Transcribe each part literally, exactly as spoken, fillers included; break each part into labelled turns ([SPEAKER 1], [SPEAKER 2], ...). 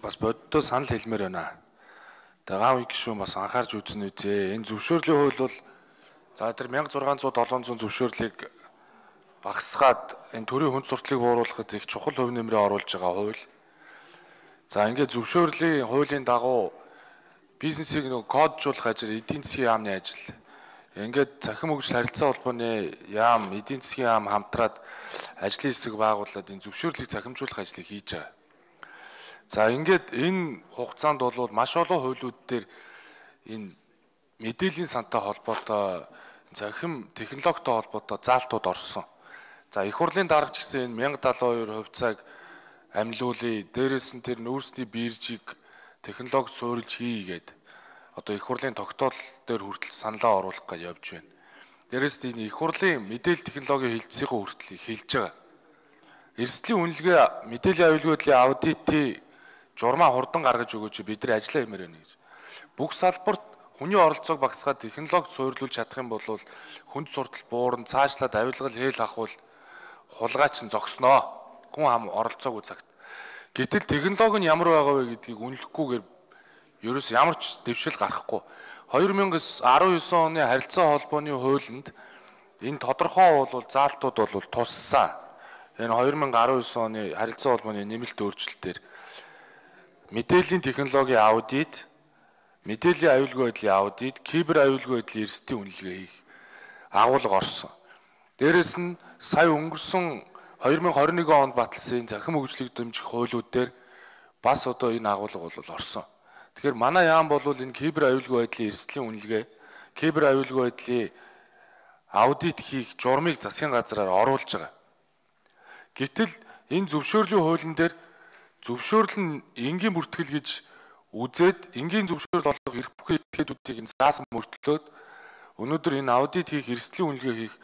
[SPEAKER 1] бас боддоо санал хэлмээр байна. Тэгээ гав их гишүүн бас анхаарч үзсэн үзээ. Энэ зөвшөөрлийн хууль бол за тэр мянга зургаан зуун долоон зуун зөвшөөрлийг багасгаад энэ төрийн хүнд сурталыг бууруулахад их чухал хувь нэмрээ оруулж байгаа хууль. За ингээд зөвшөөрлийн хуулийн дагуу бизнесийг нэг коджуулах ажил, эдийн засгийн яамны ажил. Ингээд цахим хөгжил харилцаа холбооны яам, эдийн засгийн яам хамтраад ажлын хэсэг байгуулад энэ зөвшөөрлийг цахимжуулах ажлыг хийж байгаа. За ингээд энэ хугацаанд бол маш олон хуулиуд дээр энэ мэдээллийн сантай холбоотой захим технологитой холбоотой заалтууд орсон. За их хурлын дарга ч гэсэн энэ мянга далайн хоёр хувьцааг амилуулъя. Дээрээс нь тэр нүүрсний биржийг технологи суурилж хийгээд одоо их хурлын тогтоол дээр хүртэл саналаа оруулах гэж явж байна. Дээрээс нь энэ их хурлын мэдээлэл технологийн хэлтсийн хүртэл хэлж байгаа. Эрсдлийн үнэлгээ мэдээллийн аюулгүйдлийн аудитын журмаа хурдан гаргаж өгөөч бид нар ажиллаа хэмээр байна гэж. Бүх салбарт хүний оролцоог багасгаад технологи суйрлуулж чадах юм бол хүнд суртал буурна, цаашлаад авилгал хээл ахвал хулгайч нь зогсноо. Хүн ам оролцоогүй цагт. Гэтэл технологи нь ямар байгаа вэ гэдгийг үнэлэхгүйгээр ерөөс ямар ч дэвшил гарахгүй. две тысячи десять оны харилцаа холбооны хуулинд энэ тодорхой бол заалтууд бол туссан. Энэ две тысячи десять оны харилцаа холбооны нэмэлт өөрчлөлтөөр мэдээллийн технологийн аудит, мэдээллийн аюулгүй байдлын аудит, кибер аюулгүй байдлын эрсдлийн үнэлгээ хийх агуулга орсон. Дээрээс нь сая өнгөрсөн две тысячи двадцать one онд баталсан захим хөгжлийг дэмжих хуулиуд дээр бас одоо энэ агуулга бол орсон. Тэгэхээр манай яам бол энэ кибер аюулгүй байдлын эрсдлийн үнэлгээ, кибер аюулгүй байдлын аудит хийх журмыг засгийн газраар оруулж байгаа. Гэтэл энэ зөвшөөрлийн хуулийн дээр зөвшөөрөл нь энгийн бүртгэл гэж үзээд энгийн зөвшөөрөл олох эрх бүхий этгээдүүдийг заасан мөртлөөд өнөөдөр энэ аудит хийх, эрсдлийн үнэлгээ хийх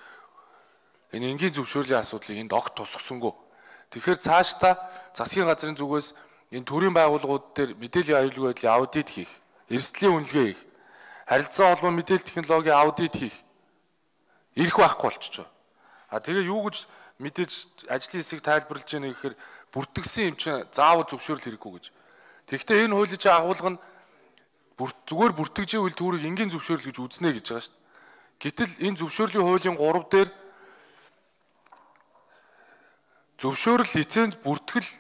[SPEAKER 1] энэ энгийн зөвшөөрлийн асуудлыг энд огт тусгасангүй. Тэгэхээр цаашдаа засгийн газрын зүгээс энэ төрийн байгууллагууд дээр мэдээллийн аюулгүй байдлын аудит хийх, эрсдлийн үнэлгээ хийх, харилцаа холбоо мэдээлэл технологийн аудит хийх эрх байхгүй болчихж байгаа. А тэгээ юу гэж мэдээж ажлын хэсэг тайлбарлаж яах гэхээр бүртгэсэн юм чинь заавал зөвшөөрөл хэрэггүй гэж. Тэгэхдээ энэ хуулийн чинь агуулга нь зүгээр бүртгэж ивэл түүрийг энгийн зөвшөөрөл гэж үзнэ гэж байгаа шүү дээ. Гэтэл энэ зөвшөөрлийн хуулийн гурав дээр зөвшөөрөл лиценз бүртгэл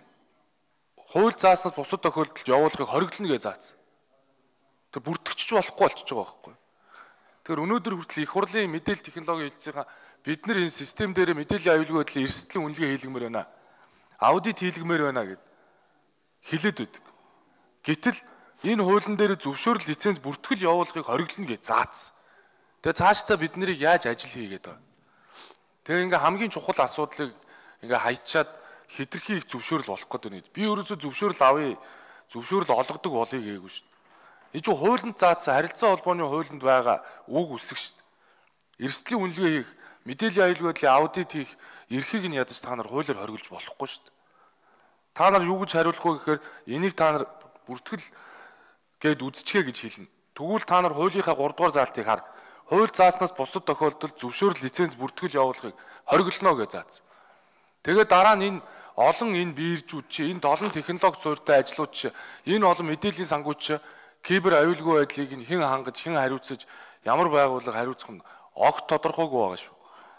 [SPEAKER 1] хууль зааснаас бусад тохиолдолд явуулахыг хориглоно гэж заасан. Тэр бүртгэж болохгүй болчихж байгаа байхгүй. Тэгэхээр өнөөдөр хүртэл их хурлын мэдээлэл технологийн хэлтсийн бид нар энэ систем дээр мэдээллийн аюулгүй байдлын эрсдлийн үнэлгээ хийлгэмээр байна. Аудит хийлгэмээр байна гэд хэлээд байдаг. Гэтэл энэ хуулийн дээр зөвшөөрөл лиценз бүртгэл явуулахыг хориглоно гэж заасан. Тэгээ цаашдаа бид нарыг яаж ажил хийгээд байгаа. Тэгээ ингээ хамгийн чухал асуудлыг ингээ хайчаад хэтэрхий их зөвшөөрөл болох гэдэг нь. Би өөрөөсөө зөвшөөрөл авъя, зөвшөөрөл олгодог болъё гээгүй шүү дээ. Энэ чинь хуулинд заасан харилцаа холбооны хуулинд байгаа үг үсэг шүү дээ. Эрсдлийн үнэлгээ хийх, мэдээллийн аюулгүй байдлын аудит хийх эрхийг нь ядаж та нар хуулиар хориглож болохгүй шүү дээ. Та нар юу гэж хариулах вэ гэхээр энийг та нар бүртгэл гээд үзчихээ гэж хэлнэ. Тэгвэл та нар хуулийнхаа гурав дугаар заалтыг хар. Хууль зааснаас бусад тохиолдолд зөвшөөрөл лиценз бүртгэл явуулахыг хориглоно гэж заасан. Тэгээ дараа нь энэ олон энэ биржүүд чи энэ олон технологи суурьтай ажлууд чи энэ олон мэдээллийн сангууд чи кибер аюулгүй байдлыг нь хэн хангаж хэн хариуцаж ямар байгууллага хариуцах нь огт тодорхойгүй байгаа шүү.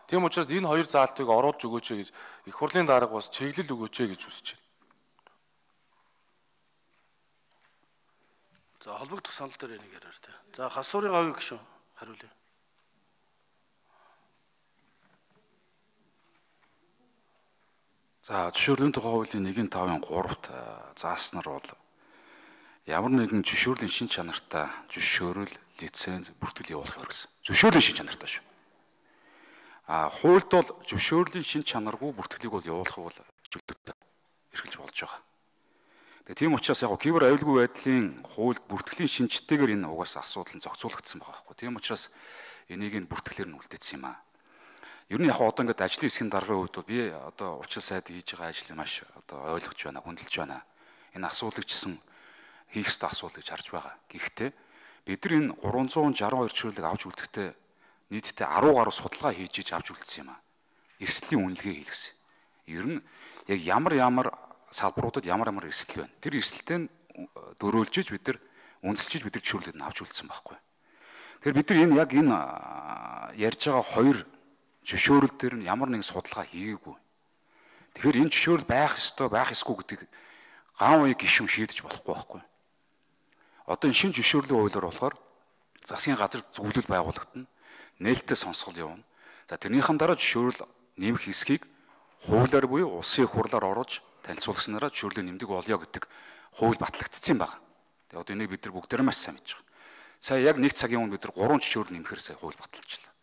[SPEAKER 1] Тийм учраас энэ хоёр заалтыг оруулж өгөөч гэж их хурлын дарга бас чиглэл өгөөч гэж хүсэж байна.
[SPEAKER 2] За холбогдох санал дээр энийг яриа тэ. За хасуурын авиг гişүн хариулъя.
[SPEAKER 3] За зөвшөөрлийн тухай хуулийн нэгэн тавын гуравт зааснаар бол ямар нэгэн зөвшөөрлийн шин чанартай зөвшөөрөл, лиценз, бүртгэл явуулах хэрэгсэн. Зөвшөөрлийн шин чанартай шүү. А хуульд бол зөвшөөрлийн шин чанаргүй бүртгэлийг бол явуулах бол чөлөөтэй эрхэлж болж байгаа. Тэгээ тийм учраас яг кибер аюулгүй байдлын хуульд бүртгэлийн шинжтэйгээр энэ угаас асуудал нь зохицуулагдсан байгаа байхгүй. Тийм учраас энийг нь бүртгэлээр нь үлдээсэн юм аа. Ер нь яг одоо ингээд ажлын хэсгийн даргын хувьд би одоо учир сайд хийж байгаа ажлыг маш одоо ойлгож байна, хүндэлж байна. Энэ асуудлыг чсэн хийх ёстой асуудал гэж харж байгаа. Гэхдээ бид нар энэ гуравдугаар шестьдесят two чиглэлийг авч үлдэхдээ нийтдээ ten гаруй судалгаа хийж иж авч үлдсэн юм аа. Эрсдлийн үнэлгээ хийлгэсэн. Ер нь яг ямар ямар салбаруудад ямар ямар эрсдэл байна. Тэр эрсдэлтэй дөрөөлжиж бид нар үнэлжиж бид нар зөвшөөрлөд нь авч үлдсэн байхгүй. Тэгэхээр бид нар энэ яг энэ ярьж байгаа хоёр зөвшөөрөл дээр нь ямар нэгэн судалгаа хийгээгүй. Тэгэхээр энэ зөвшөөрөл байх ёстой байх ёсгүй гэдгийг ган үе гишүүн шийдэж болохгүй байхгүй. Одоо энэ шинэ зөвшөөрлийн хуулиар болохоор засгийн газар зөвлөл байгуулагдана. Нээлттэй сонсгол явна. За тэрнийхэн дараа зөвшөөрөл нэмэх хэсгийг хуулиар буюу улсын их хурлаар оруулж танилцуулснараа зөвшөөрлийн нэмдэг болёо гэдэг хууль батлагдсан байна. Тэгээ одоо энийг бид нар бүгдээрээ маш сайн мэдж байгаа. Сая яг нэг цагийн өмнө бид нар гурван зөвшөөрөл нэмэхээр сая хууль баталчихлаа.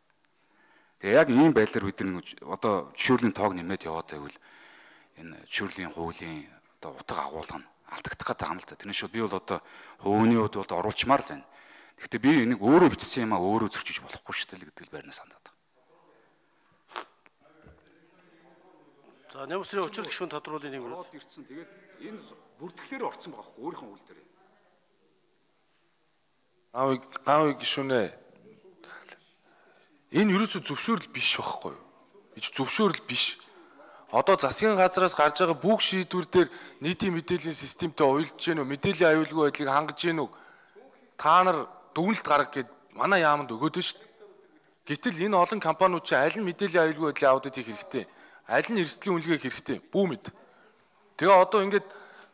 [SPEAKER 3] Тэгээ яг ийм байдлаар бид нар одоо зөвшөөрлийн тоог нэмээд яваад байвал энэ зөвшөөрлийн хуулийн одоо утга агуулга нь алдагдах гэдэг юм л та. Тэрнээс би бол одоо хувийн хувьд бол оруулчмаар л байна. Гэхдээ би энийг өөрөө бичсэн юм а өөрөө зөрчиж болохгүй шүү дээ гэдэг л байрнаас хандаад байна.
[SPEAKER 2] За нэмсрийн учир гишүүн тодруулын нэг
[SPEAKER 3] ороод ирсэн. Тэгээд энэ бүртгэлээр орсон байгаа хөө өөрийнхөө үйл дээр.
[SPEAKER 1] Аа гав гишүүнээ энэ ерөөсөө зөвшөөрөл биш байхгүй юу? Ич зөвшөөрөл биш. Одоо засгийн газраас гарч байгаа бүх шийдвэр дээр нийтийн мэдээллийн системтэй уялдж гэнэ үү? Мэдээллийн аюулгүй байдлыг хангаж гэнэ үү? Та нар дүгнэлт гаргах гээд манай яамд өгөөд нь шүү дээ. Гэтэл энэ олон компаниуд чинь аль нь мэдээллийн аюулгүй байдлын аудит хийх хэрэгтэй? Аль нь эрсдлийн үнэлгээ хэрэгтэй? Бүү мэд. Тэгээ одоо ингээд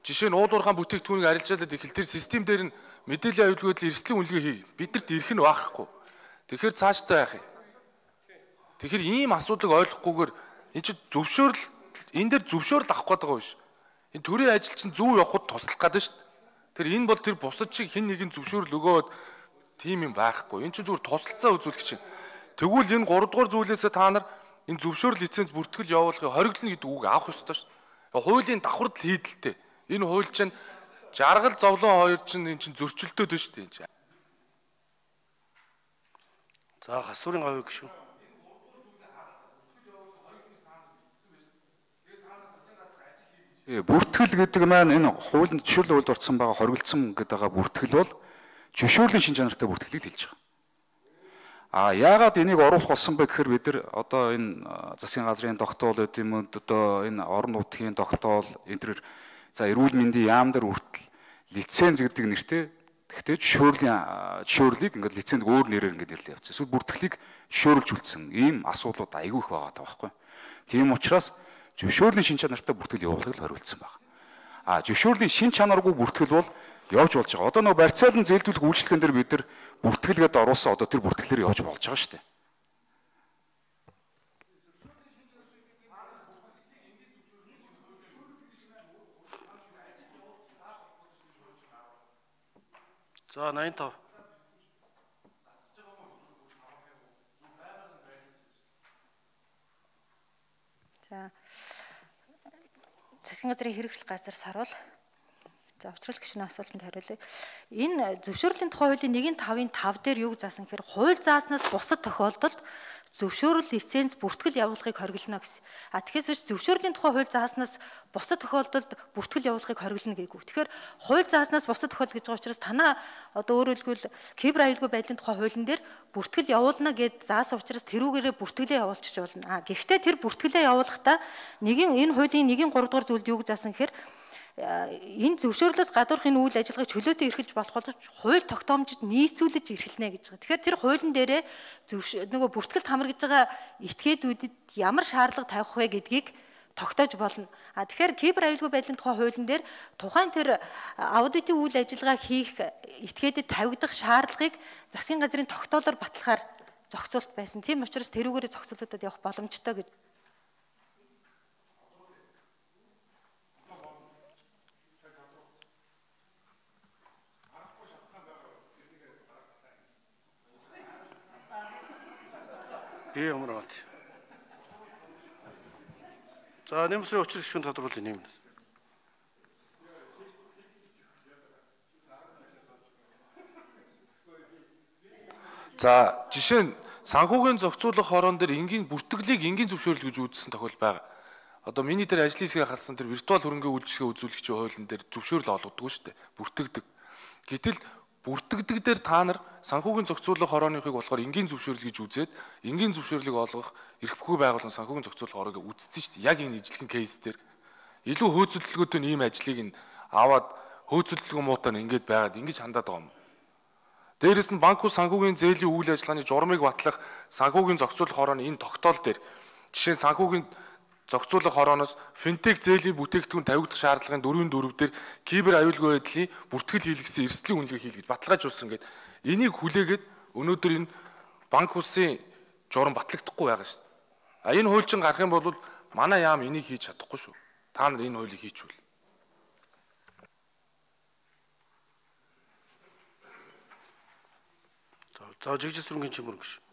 [SPEAKER 1] жишээ нь уулуурхаан бүтээгдэхүүнийг арилжаалаад ихэл тэр систем дээр нь мэдээллийн аюулгүй байдлын эрсдлийн үнэлгээ хий. Бидэрт ирэх нь байхгүй. Тэгэхээр цаашдаа яах юм? Тэгэхээр ийм асуудлыг ойлгохгүйгээр энэ чинь зөвшөөрөл энэ дээр зөвшөөрөл авах гэдэг байгаа биш. Энэ төрийн ажил чинь зөв явахд туслах гэдэг шүү дээ. Тэр энэ бол тэр бусад шиг хэн нэгэн зөвшөөрөл өгөөд тийм юм байхгүй. Энэ чинь зүгээр тусалцаа үзүүлэх чинь. Тэгвэл энэ гурав дугаар зүйлээсээ та нар энэ зөвшөөрөл лиценз бүртгэл явуулахыг хориглоно гэдэг үг авах ёстой шүү дээ. Хуулийн давхард л хийдэлтэй. Энэ хууль чинь жаргал зовлон хоёр чинь энэ чинь зөрчилдөөд байна шүү дээ.
[SPEAKER 2] За хасуурын гавь гişүү.
[SPEAKER 3] Э бүртгэл гэдэг маань энэ хуулийн зөвшөөрлөд үйлд орсон байгаа хоригдсан гэдэг байгаа бүртгэл бол зөвшөөрлийн шин чанартай бүртгэлийг хэлж байгаа. А яагаад энийг оруулах болсон бэ гэхээр бид нар одоо энэ засгийн газрын тогтоол гэдэг юм одоо энэ орон нутгийн тогтоол энэ за эрүүл мэндийн яам дээр хүртэл лиценз гэдэг нэртэй гэхдээ зөвшөөрлийн зөвшөөрлийг ингээд лиценз өөр нэрээр ингээд нэрлэе явуулсан. Эсвэл бүртгэлийг зөвшөөрлж үлдсэн ийм асуудлууд айгүй их байгаа байхгүй. Тийм учраас зөвшөөрлийн шин чанартай бүртгэл явуулахыг хориглосон байна. А зөвшөөрлийн шин чанаргүй бүртгэл бол явж болж байгаа. Одоо нөгөө барьцаалан зээлдүүлэх үйлчлэгэн дээр бид нар бүртгэлгээд оруулсан одоо тэр бүртгэлээр явж болж байгаа шүү дээ.
[SPEAKER 2] За найман тав.
[SPEAKER 4] За засгийн газрын хэрэгжил газар саруул. За учрал гишүүний асуултанд хариулъя. Энэ зөвшөөрлийн тухай хуулийн нэгэн тавын тав дээр юг заасан гэхээр хууль зааснаас бусад тохиолдолд зөвшөөрөл лиценз бүртгэл явуулахыг хориглоно гэсэн. А тэгэхээр зөвшөөрлийн тухай хууль зааснаас бусад тохиолдолд бүртгэл явуулахыг хориглоно гээгүү. Тэгэхээр хууль зааснаас бусад тохиолдол гэж байгаа учраас танаа одоо өөрөөр хэлбэл кибер аюулгүй байдлын тухай хуулийн дээр бүртгэл явуулна гэд заасан учраас тэрүүгээрээ бүртгэлээ явуулчих болно. А гэхдээ тэр бүртгэлээ явуулахдаа нэгэн энэ хуулийн нэгэн гурав дугаар зүйлд юг заасан гэхээр энэ зөвшөөрлөөс гадуурх энэ үйл ажиллагааг чөлөөтэй эрхэлж болох болж хууль тогтоомжид нийцүүлж эрхэлнэ гэж байгаа. Тэгэхээр тэр хуулийн дээрээ нөгөө бүртгэлд хамрагдж байгаа этгээдүүдэд ямар шаардлага тавих вэ гэдгийг тогтоож болно. А тэгэхээр кибер аюулгүй байдлын тухай хуулийн дээр тухайн тэр аудитын үйл ажиллагааг хийх этгээдэд тавигдах шаардлагыг засгийн газрын тогтоолоор батлахаар зохицуулт байсан. Тийм учраас тэрүүгээрээ зохицуулалтад явах боломжтой гэж.
[SPEAKER 2] Би ямар бат. За нэмсрийн учир гишүүн тодруулъя нэм.
[SPEAKER 1] За жишээ нь санхүүгийн зохицуулах хорон дээр энгийн бүртгэлийг энгийн зөвшөөрөл гэж үзсэн тохиол байгаа. Одоо миний дээр ажлын хэсгээ халсан тэр виртуал хөрөнгөний үйлчлэгээ үзүүлэгчийн хуулийн дээр зөвшөөрөл олгодог шүү дээ. Бүртгэдэг. Гэтэл бүртгэдэг дээр та нар санхүүгийн зохицуулах хорооныхыг болохоор энгийн зөвшөөрөл гэж үзээд энгийн зөвшөөрлийг олгох эрх бүхий байгууллагын санхүүгийн зохицуулах хороог үзсэн шүү дээ. Яг энэ ижлэхэн кейс дээр илүү хөөцөлдөлгөөтэй ийм ажлыг нь аваад хөөцөлдөлгөө муутай нь ингэж байгаад ингэж хандаад байгаа юм. Дээрээс нь банк ус санхүүгийн зээлийн үйл ажиллагааны журмыг батлах санхүүгийн зохицуулах хорооны энэ тогтоол дээр жишээ нь санхүүгийн зохицуулах хорооноос финтек зээлийн бүтээгдэхүүн тавигдах шаардлагын дөрвийн дөрөв дээр кибер аюулгүй байдлын бүртгэл хийлгэсэн эрсдлийн үнэлгээ хийлгэж баталгаажуулсан гэдэг. Энийг хүлээгээд өнөөдөр энэ банк усын журам батлагдахгүй байгаа шүү дээ. А энэ хуульчин гарах юм бол манай яам энийг хийж чадахгүй шүү. Та нар энэ хуулийг хийчихвэл.
[SPEAKER 2] За жигжил сүргийн чимэр гэж.